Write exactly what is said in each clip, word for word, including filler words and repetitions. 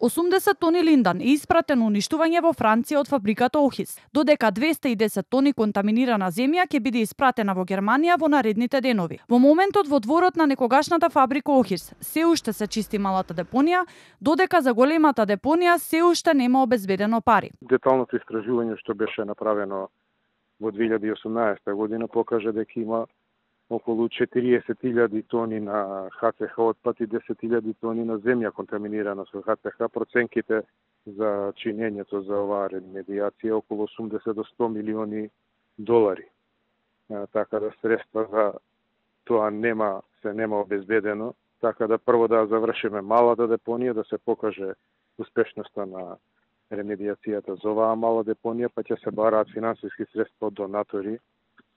осумдесет тони линдан е испратен на уништување во Франција од фабриката Охис, додека двесте и десет тони контаминирана земја ќе биде испратена во Германија во наредните денови. Во моментот во дворот на некогашната фабрика Охис се уште се чисти малата депонија, додека за големата депонија се уште нема обезбедено пари. Деталното истражување што беше направено во две илјади и осумнаесета година покажа дека има околу четириесет илјади тони на Х Ц Х отпад и десет илјади тони на земја контаминирана со Х Ц Х. Проценките за чинењето за оваа ремедијација околу осумдесет до сто милиони долари. А, така да средства за тоа нема, се нема обезбедено, така да прво да завршиме малата депонија, да се покаже успешноста на ремедијацијата за оваа мала депонија, па ќе се бараат финансиски средства од донатори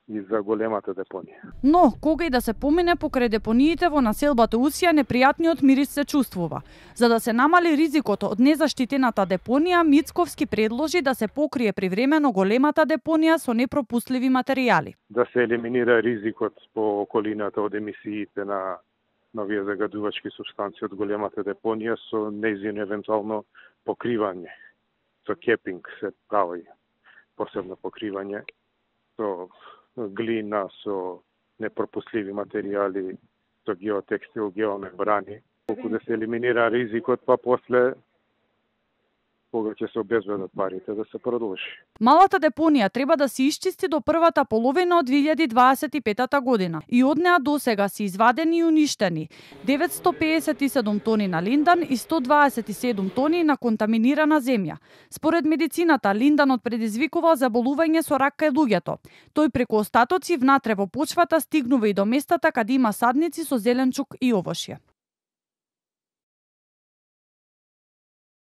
и за големата депонија. Но, кога и да се помине покрај депониите во населбата Усија, непријатниот мирис се чувствува. За да се намали ризикот од незаштитената депонија, Мицковски предложи да се покрие привремено големата депонија со непропустливи материјали. Да се елиминира ризикот по околината од емисиите на новија загадувачки супстанции од големата депонија со нејзино евентуално покривање. Со кепинг се прави посебно покривање, со глина, со непропустливи материјали, со геотекстил, геомембрани. Колку да се елиминира ризикот, па после кога ќе се обезбедат парите да се продолжи. Малата депонија треба да се исчисти до првата половина од две илјади дваесет и петата година и од неа досега се извадени и уништени деветстотини пеесет и седум тони на линдан и сто дваесет и седум тони на контаминирана земја. Според медицината, линданот предизвикува заболување со рак кај луѓето. Тој преку остатоци внатре во почвата стигнува и до местата каде има садници со зеленчук и овошје.